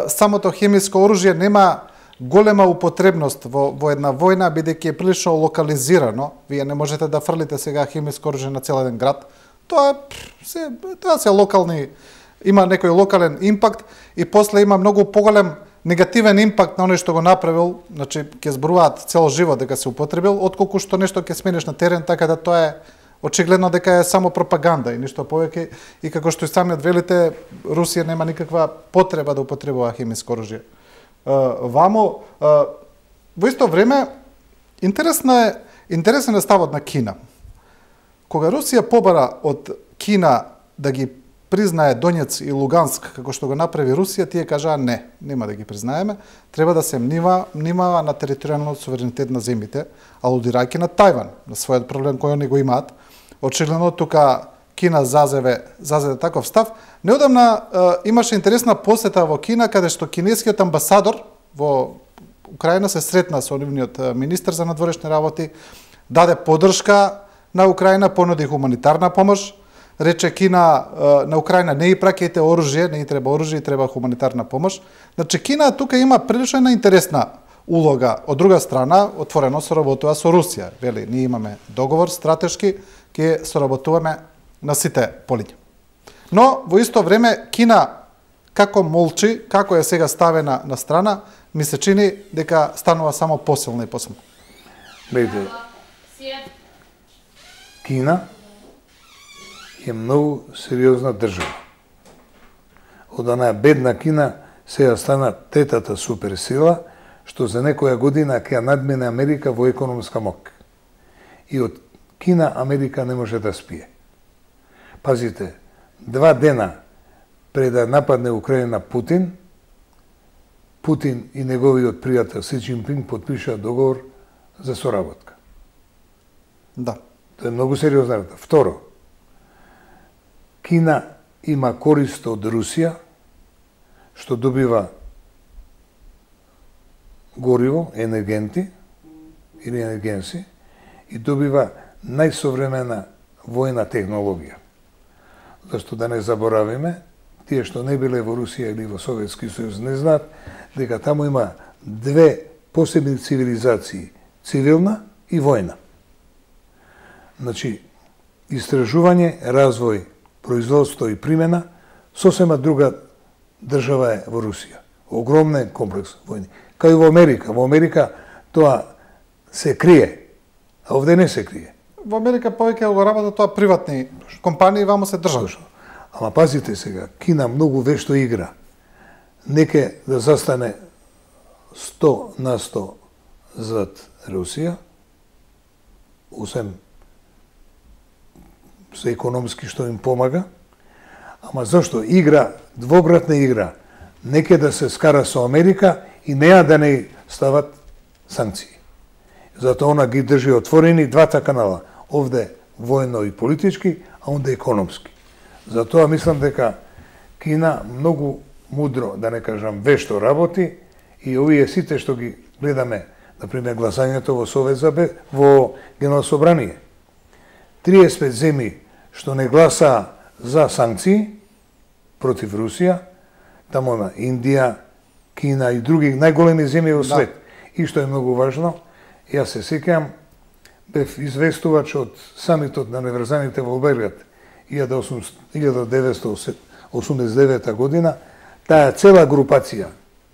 самото хемиско оружје нема голема употребност во една војна, бидејќи е прилично локализирано. Вие не можете да фрлите сега хемиско оружје на цел еден град. Тоа се локални, има некој локален импакт и после има многу поголем негативен импакт на оној што го направил, значи ќе зборуваат цел живот дека се употребил, отколку што нешто ќе смениш на терен, така да тоа е очигледно дека е само пропаганда и ништо повеќе. И како што и самиот велите, Русија нема никаква потреба да употребува хемиско оружје. Вамо, во исто време, интересен е ставот на Кина. Кога Русија побара од Кина да ги признае Донец и Луганск, како што го направи Русија, тие кажаа не, нема да ги признаеме, треба да се внимава на територијалниот суверенитет на земјите, алудирајќи на Тајван, на својот проблем кој они го имаат. Очигледно тука Кина зазеде таков став. Неодамна имаше интересна посета во Кина, каде што кинескиот амбасадор во Украина се сретна со нивниот министер за надворешни работи, даде поддршка на Украина, понуди хуманитарна помош, рече Кина на Украина не и праќајте оружје, не и треба оружје, и треба хуманитарна помош. Значи Кина тука има прилично интересна улога. Од друга страна, отворено соработува со Русија. Вели, ние имаме договор стратешки, ќе соработуваме на сите полиња. Но во исто време Кина како молчи, како е сега ставена на страна, ми се чини дека станува само посилна и посилна. Гледате, Кина е многу сериозна држава. Од онаа бедна Кина сега стана третата суперсила, што за некоја година ќе надмине Америка во економска мок. И од Кина Америка не може да спие. Пазите, 2 дена пред да нападне Украина Путин и неговиот пријател Си Џинпинг потпишаа договор за соработка. Да. Тоа е многу сериозна работа. Второ, Кина има корист од Русија, што добива гориво, енергенти или енергенси, и добива најсовремена војна технологија. Зашто да не заборавиме, тие што не биле во Русија или во Советски сојуз не знаат дека таму има 2 посебни цивилизации, цивилна и војна. Значи, истражување, развој, производство и примена, сосема друга држава е во Русија. Огромен комплекс војни. Кај во Америка. Во Америка тоа се крие, а овде не се крие. Во Америка повеќе го работат тоа приватни компании, вамо се држава. Ама пазите сега, Кина многу вешто игра. Неке да застане 100% зад Русија, освен се економски што им помага, Ама зашто игра, двогратна игра, неке да се скара со Америка и неа да не стават санкции. Затоа она ги држи отворени двата канала, овде војно и политички, а онде економски. Затоа мислам дека Кина многу мудро, да не кажам вешто работи и овие сите што ги гледаме, например гласањето во Совет во Генерално собрание. 35 земји што не гласа за санкции против Русија, таму има Индија, Кина и други најголеми земји во свет. И што е многу важно, јас се сеќавам, бев известувач од самитот на неврзаните во Белград 1989 година, таа цела групација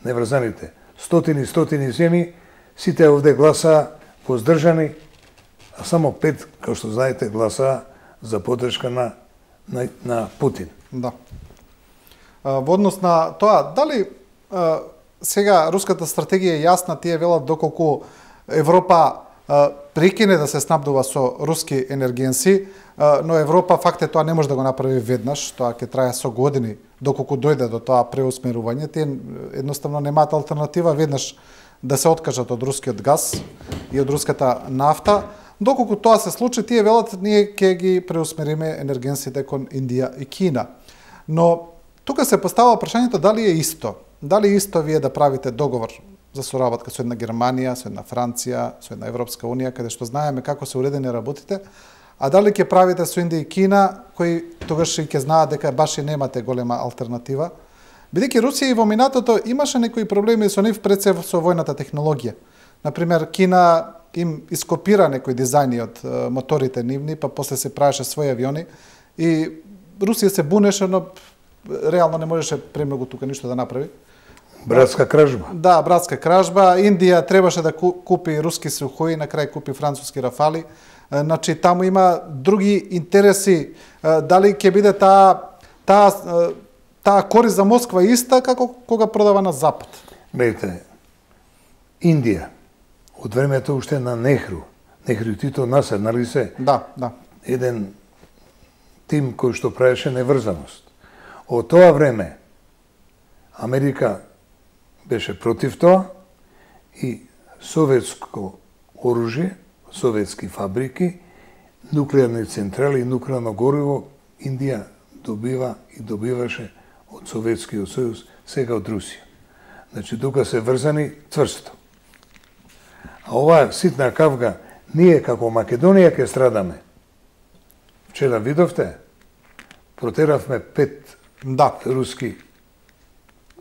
неврзаните, стотини земји, сите овде гласаа воздржани, а само 5, како што знаете, гласаа за поддршка на Путин. Да. Во однос на тоа, дали сега руската стратегија е јасна, тие велат доколку Европа прекине да се снабдува со руски енергенси, но Европа факт е тоа не може да го направи веднаш, тоа ќе трае со години доколку дојде до тоа преусмерување. Тие едноставно немаат алтернатива веднаш да се откажат од рускиот газ и од руската нафта. Доколку тоа се случи, тие велат ние ќе ги преусмериме енергенсите кон Индија и Кина. Но тука се поставува прашањето дали е исто. Дали е исто вие да правите договор за соработка со една Германија, со една Франција, со една Европска Унија, каде што знаеме како се уредени работите, а дали ќе правите со Индија и Кина, кои тогаш и ќе знаат дека баш и немате голема алтернатива, бидејќи Русија и во минатото имаше некои проблеми со нив пред се со војната технологија. Например, Кина им ископира некои дизајни од моторите нивни, па после се правеше своји авиони и Русија се бунеше, но реално не можеше премногу тука ништо да направи. Братска кражба. Да, братска кражба. Индија требаше да купи руски Сухои, на крај купи француски Рафали. Значи, таму има други интереси. Дали ќе биде таа корист за Москва иста како кога продава на Запад? Гледайте, Индија, од времето уште на Нехру и Тито Насер, нали се? Да. Еден тим кој што правеше неврзаност. Од тоа време Америка беше против тоа и советско оружје, советски фабрики, нуклеарни централи и нуклеарно гориво Индија добива и добиваше од Советскиот сојуз, сега од Русија. Значи, тука се врзани цврсто. А оваа ситна кавга, ние како Македонија ќе страдаме. Вчера видовте, протеравме 5 руски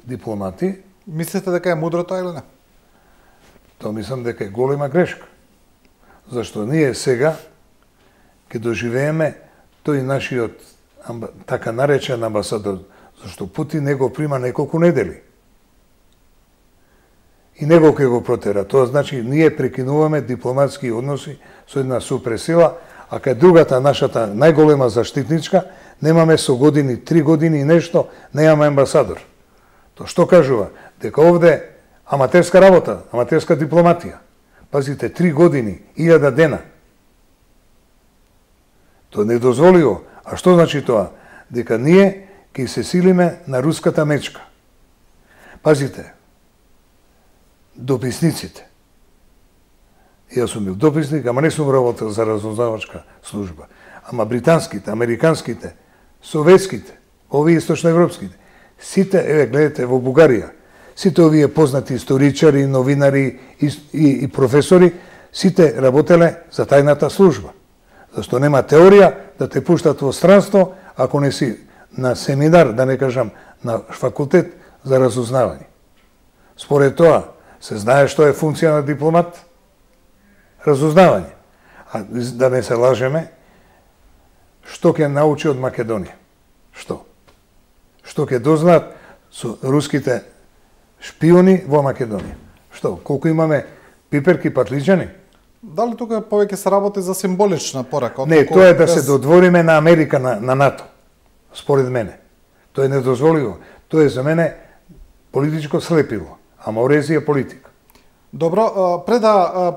дипломати. Мислите дека е мудро тоа или не? Тоа мислам дека е голема грешка. Зашто ние сега ќе доживееме тој нашиот така наречен амбасадор, зашто Путин не го прима неколку недели. И него ќе го протера. Тоа значи ние прекинуваме дипломатски односи со една супресила, а кај другата нашата најголема заштитничка немаме со години, 3 години и нешто, немаме амбасадор. Тоа што кажува? Дека овде аматерска работа, аматерска дипломатија. Пазите, 3 години, 1000 дена. Тоа не дозволиво. А што значи тоа? Дека ние ќе се силиме на руската мечка. Пазите, дописниците. Јас сум бил дописник, ама не сум работел за разузнавачка служба. Ама британските, американските, советските, овие источноевропските, сите, еве гледате во Бугарија, сите овие познати историчари, новинари и професори, сите работеле за тајната служба. Зашто нема теорија да те пуштат во странство ако не си на семинар, да не кажам на факултет за разузнавање. Според тоа, се знае што е функција на дипломат? Разузнавање. А да не се лажеме, што ќе научи од Македонија? Што? Што ќе дознаат со руските шпиони во Македонија? Што? Колку имаме пиперки, патлиџани? Дали тука повеќе се работи за символична порака? Не, тоа е да се додвориме на Америка, на НАТО. Според мене. Тоа е недозволиво. Тоа е за мене политичко слепило. Аморезија политика. Добро, пред да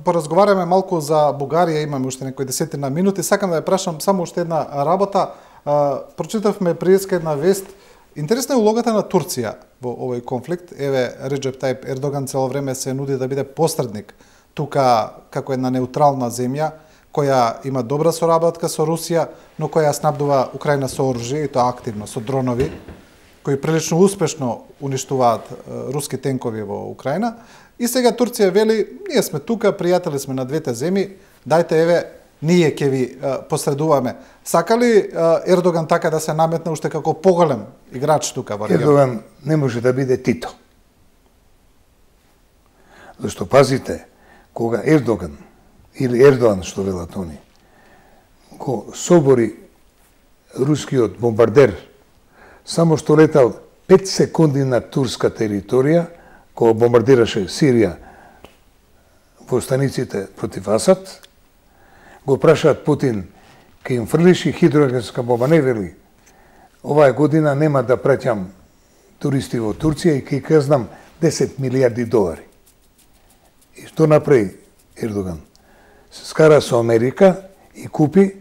поразговараме малку за Бугарија, имаме уште некои 10 минути, сакам да ја прашам само уште една работа. Прочитавме приеска една вест. Интересна е улогата на Турција во овој конфликт. Еве, Реджеп Тајип Ердоган цело време се нуди да биде посредник тука како една неутрална земја која има добра соработка со Русија, но која снабдува Украина со оружје, и тоа активно, со дронови, кои прилично успешно уништуваат руски тенкови во Украина. И сега Турција вели, ние сме тука, пријатели сме на двете земји, дајте еве, ние ќе ви посредуваме. Сака ли Ердоган така да се наметне уште како поголем играч тука во регионот? Ердоган не може да биде Тито. Зашто пазите, кога Ердоган или Ердоан, што велат они, го собори рускиот бомбардер, само што летал 5 секунди на турска територија, кога бомбардираше Сирија во станиците против Асад, го прашаат Путин, ке им фрлиши хидроенергетска бомба, не вели, оваа година нема да праќам туристи во Турција и ке казнам 10 милиарди долари. И што направи Ердоган? Се скара со Америка и купи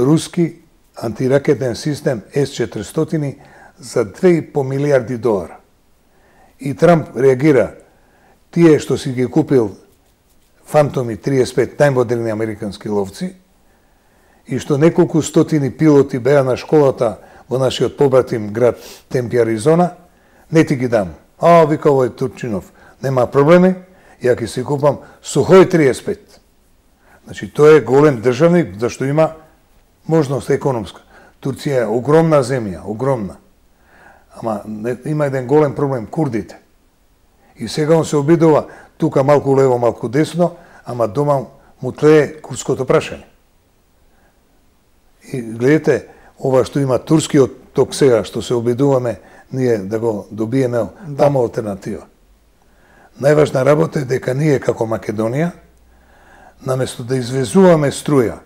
руски антиракетен систем С-400 за 2,5 милиарди долара. И Трамп реагира, тие што си ги купил Фантоми 35 најмодерни американски ловци и што неколку стотини пилоти беа на школата во нашиот побратим град Темпи, Аризона, не ти ги дам. Вика овој Турчинов, нема проблеми, ја ќе си купам Сухој 35. Значи, тој е голем државник, зашто има можност економска. Турција е огромна земја, огромна. Ама има еден голем проблем, курдите. И сега он се обидува тука малку лево, малку десно, ама дома му тлее курското прашање. И гледате, ова што има турскиот ток сега, што се обидуваме ние да го добиеме, тамо алтернатива. Најважна работа е дека ние како Македонија, наместо да извезуваме струја,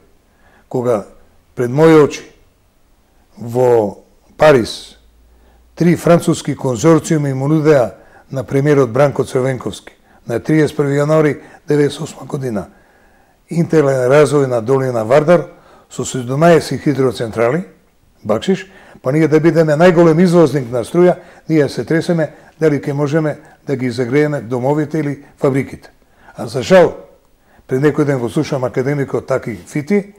кога пред мои очи во Париз 3 француски конзорциуми му нудеа на премиерот Бранко Црвенковски на 31. јануари 1998 година интегрален развој на долина Вардар со 17 хидроцентрали, бакшиш, па ние да бидеме најголем извозник на струја, ние се тресеме дали ќе можеме да ги загрееме домовите или фабриките. А за жал, пред некој ден го слушам академикот Таки Фити,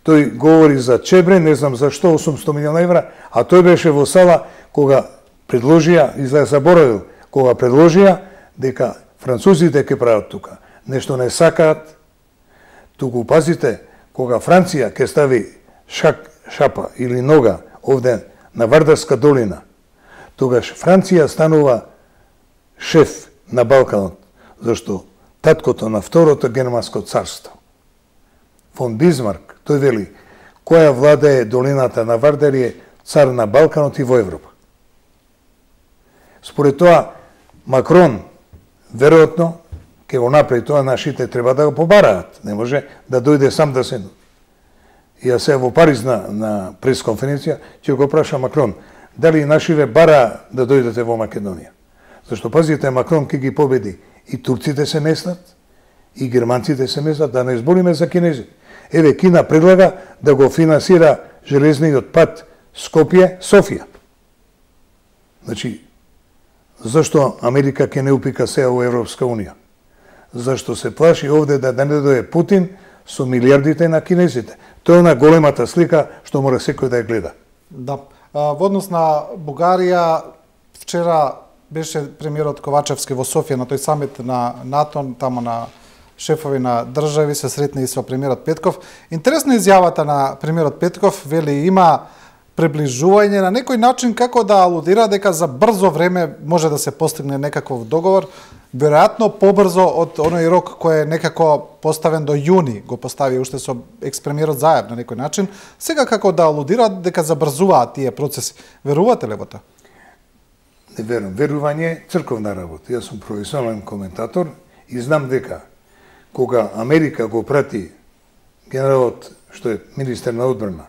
тој говори за Чебре, не знам зашто, 800 милиона евра, а тој беше во сала кога предложија, изгледа заборавил, кога предложија дека французите ќе прават тука. Нешто не сакаат, туку пазите, кога Франција ќе стави шапа или нога овде на Вардарска долина, тогаш Франција станува шеф на Балканот, зашто таткото на Второто германско царство, фон Бисмарк, тој вели, која влада е долината на Вардар е цар на Балканот и во Европа. Според тоа, Макрон, веројатно, ќе го направи тоа, нашите треба да го побараат. Не може да дојде сам да се... И ја се во Париз на пресконференција, ќе го праша Макрон, дали нашиве бара да дојдете во Македонија. Зашто, пазите, Макрон ќе ги победи. И турците се местат, и германците се местат, да не збориме за кинезите. Еве, Кина предлага да го финансира железниот пат Скопје-Софија. Значи, зашто Америка ќе не упика сега во Европска Унија? Зашто се плаши овде да не дојде Путин со милиардите на кинезите. Тоа е на големата слика што мора секој да ја гледа. Да. Во однос на Бугарија, вчера беше премиерот Ковачевски во Софија на тој самит на НАТО, тамо на шефови на држави, се сретна и со премиерот Петков. Интересна изјавата на премиерот Петков, вели има приближување на некој начин како да алудира дека за брзо време може да се постигне некаков договор, веројатно побрзо од оној рок кој е некако поставен до јуни, го постави уште со екс-премиерот Заев на некој начин. Сега како да алудира дека забрзуваат тие процеси. Верувате ли во тоа? Не верувам. Верување е црковна работа. Јас сум професионален коментатор и знам дека кога Америка го прати генералот што е министер на одбрана,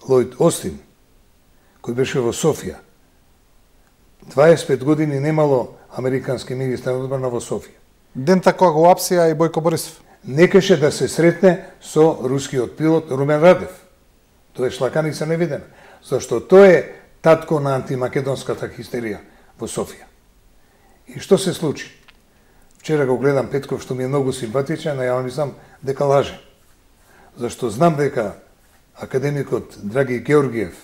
Лојд Остин, кој беше во Софија, 25 години немало американски министер на одбрана во Софија. Дента кога го апсија и Бојко Борисов. Некаше да се сретне со рускиот пилот Румен Радев. Тоа е шлаканица невидена. Зашто тоа е татко на антимакедонската хистерија во Софија. И што се случи? Вчера го гледам Петков, што ми е многу симпатичен, а ја мислам дека лаже. Зашто знам дека академикот Драги Георгиев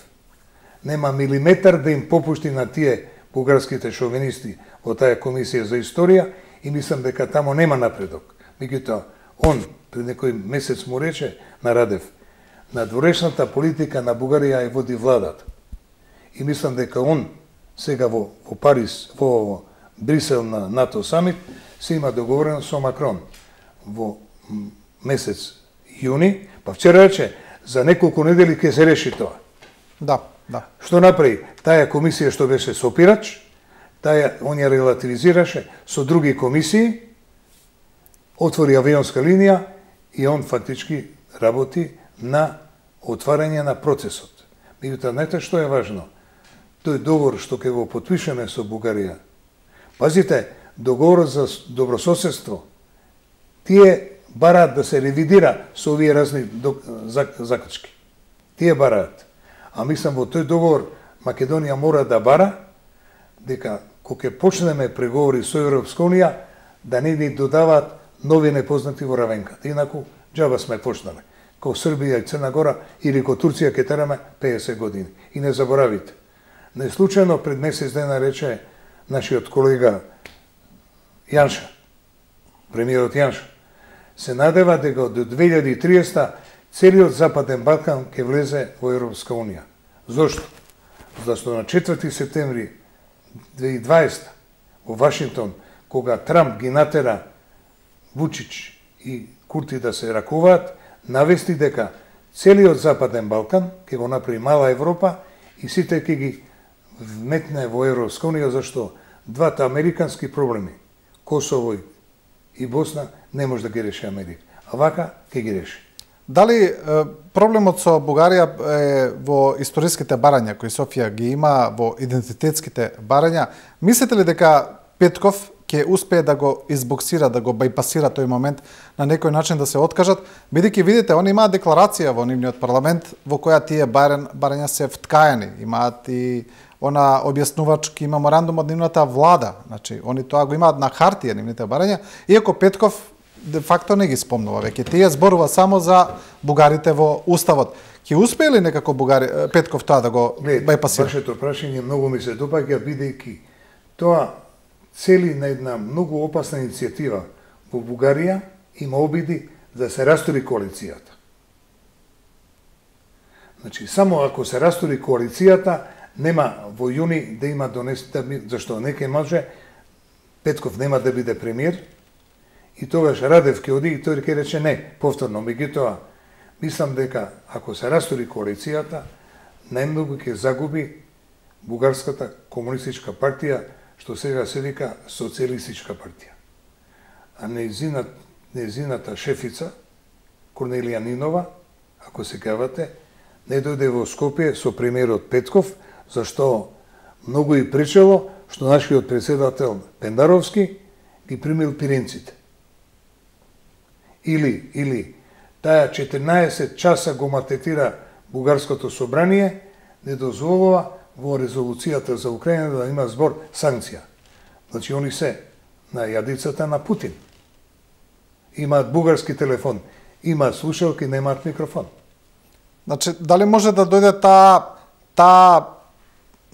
нема милиметар да им попушти на тие бугарските шовинисти во таа комисија за историја и мислам дека тамо нема напредок. Меѓутоа, он пред некој месец му рече на Радев, надворешната политика на Бугарија ја води владата. И мислам дека он сега во Париз, во Брисел на НАТО самит, се има договорено со Макрон во месец јуни, па вчера рече, за неколку недели ќе се реши тоа. Да, да. Што направи? Таа комисија што беше сопирач, он ја релативизираше со други комисии, отвори авионска линија и он фактички работи на отварање на процесот. Меѓутоа, знаете што е важно? Тој договор што ќе го потпишеме со Бугарија. Пазите, договорот за добрососедство, тие бараат да се ревидира со овие разни заклучки. Тие бараат. А мислам во тој договор Македонија мора да бара дека кога ќе почнеме преговори со Европска унија, да не ни додаваат нови непознати во равенката. Инаку џаба сме почнале. Ко Србија и Црна Гора или ко Турција ќе тераме 50 години. И не заборавите. Не случајно пред месец дена рече нашиот колега Јанша, премиерот Јанша, се надева дека до 2030 целиот Западен Балкан ќе влезе во Европска унија. Зошто? Зашто на 4 септември 2020 во Вашингтон, кога Трамп ги натера Вучич и Курти да се ракуваат, навести дека целиот Западен Балкан ќе го направи мала Европа и сите ќе ги вметне во Европска унија, зашто двата американски проблеми, Косово и Босна, не може да ги реши Америка. А вака ќе ги реши. Дали проблемот со Бугарија е во историските барања кои Софија ги има, во идентитетските барања? Мислите ли дека Петков ќе успее да го избоксира, да го бајпасира тој момент, на некој начин да се откажат, бидејќи видите, они имаат декларација во нивниот парламент во која тие барања се вткаени, имаат и она објаснувачки меморандум од нивната влада, значи они тоа го имаат на хартија нивните барања, иако Петков де факто не ги спомнува веќе. Тие зборува само за бугарите во уставот. Ќе успее ли некако Петков тоа да го бајпасира? Вашето прашање многу ми се допаѓа, бидејќи тоа цели на една многу опасна иницијатива во Бугарија, има обиди да се растури коалицијата. Значи, само ако се растури коалицијата, нема во јуни да има зашто некој може, Петков нема да биде премиер, и тогаш Радев ќе оди и тој ќе рече не, повторно. Меѓутоа, мислам дека ако се растури коалицијата, најмногу ќе загуби Бугарската комунистичка партија, што сега се вика социјалистичка партија. А нејзината шефица, Корнелија Нинова, ако се кавате, не дојде во Скопје со премиерот Петков, зашто многу и пречело што нашиот председател Пендаровски ги примил пиринците. Или таа 14 часа го матетира Бугарското собрание, не дозволува во резолуцијата за Украина да има збор санкција. Значи, они се на јадицата на Путин. Имаат бугарски телефон, имаат слушалки, немаат микрофон. Значи, дали може да дојде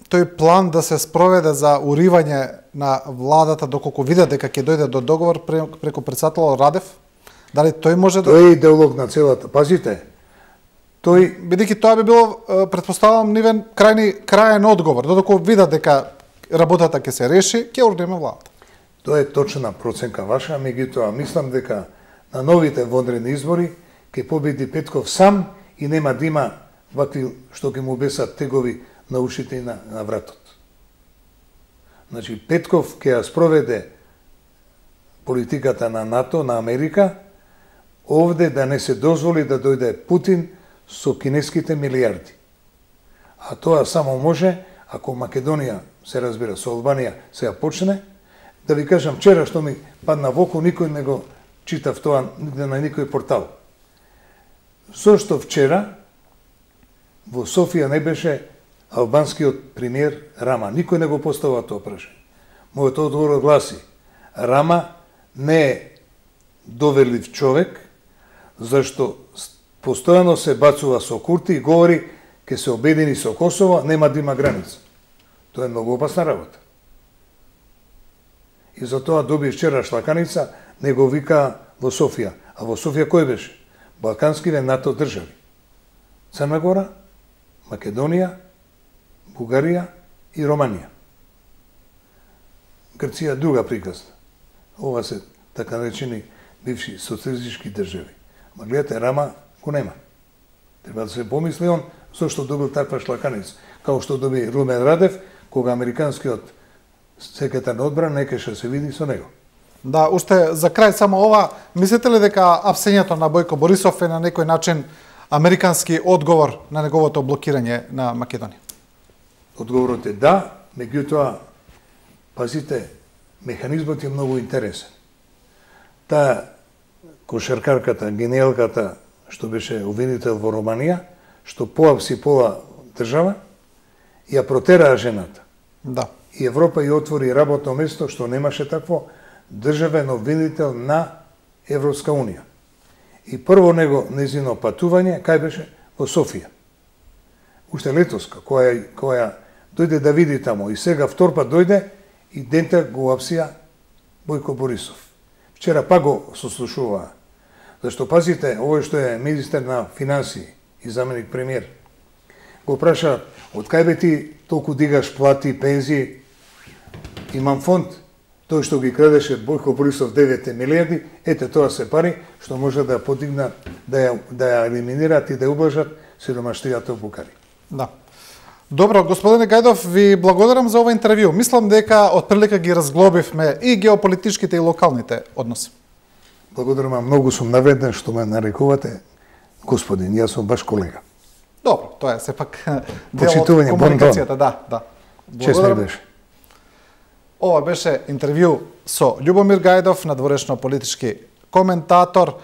тој план да се спроведе за уривање на владата доколку видат дека ќе дојде до договор преку председателот Радев? Дали тој може да... Тој е идеолог на целата. Пазите, бидејќи тоа би било, претпоставувам, нивен крајен одговор, додека видат дека работата ќе се реши, ќе урнеме владата. Тоа е точна проценка ваша, меѓутоа мислам дека на новите вонредни избори ќе победи Петков сам и нема да има вакви што ќе му бесат тегови на ушите и на вратот. Значи, Петков ќе ја спроведе политиката на НАТО, на Америка, овде да не се дозволи да дојде Путин со кинеските милиарди. А тоа само може ако Македонија, се разбира, со Албанија сега почне. Да ви кажам, вчера што ми падна во око, никој не го читав тоа нигде на никој портал. Зошто вчера во Софија не беше албанскиот премиер Рама. Никој не го поставува тоа прашање. Мојот одговор гласи: Рама не е доверлив човек, зашто постојано се бацува со Курти и говори ке се обедини со Косово, нема да има граница. Тоа е многу опасна работа. И затоа доби вчера шлаканица, не го вика во Софија. А во Софија кој беше? Балканскиве НАТО држави. Црна Гора, Македонија, Бугарија и Романија. Грција друга приказна. Ова се така наречени бивши социјалистички држави. Ма гледате, Рама го нема. Треба да се помисли он зашто добил таква шлаканица. Као што доби Румен Радев, кога американскиот секретар на одбрана не кеше се види со него. Да, уште за крај само ова, мислите ли дека апсењето на Бојко Борисов е на некој начин американски одговор на неговото блокирање на Македонија? Одговорот е да, меѓутоа, пазите, механизмот е многу интересен. Таа кошаркарката, гениалката, што беше обвинител во Романија, што поапси пола држава, ја протераа жената. Да. И Европа ја отвори работно место што немаше такво државен обвинител на Европска Унија. И прво незино патување, кај беше? Во Софија. Уште летоска, која дојде да види тамо. И сега втор пат дојде и дента го апсија Бојко Борисов. Вчера пак го сослушуваа. Зашто, пазите, овој што е министер на финансии и заменик премиер, го праша, од кај бе ти толку дигаш плати, пензии? Имам фонд, тој што ги крадеше Бојко Борисов 9 милиарди, ете тоа се пари што може да подигнат, да ја елиминираат и да ублажат сиромаштијата во Букари. Да. Добро, господине Гајдов, ви благодарам за ова интервју. Мислам дека отприлика ги разглобивме и геополитичките и локалните односи. Благодарам, многу сум навреден што ме нарекувате господин, јас сум ваш колега. Добро, тоа е сепак дел од комуникацијата, да. Чест ми беше. Ова беше интервју со Љубомир Гајдов, надворешно политички коментатор.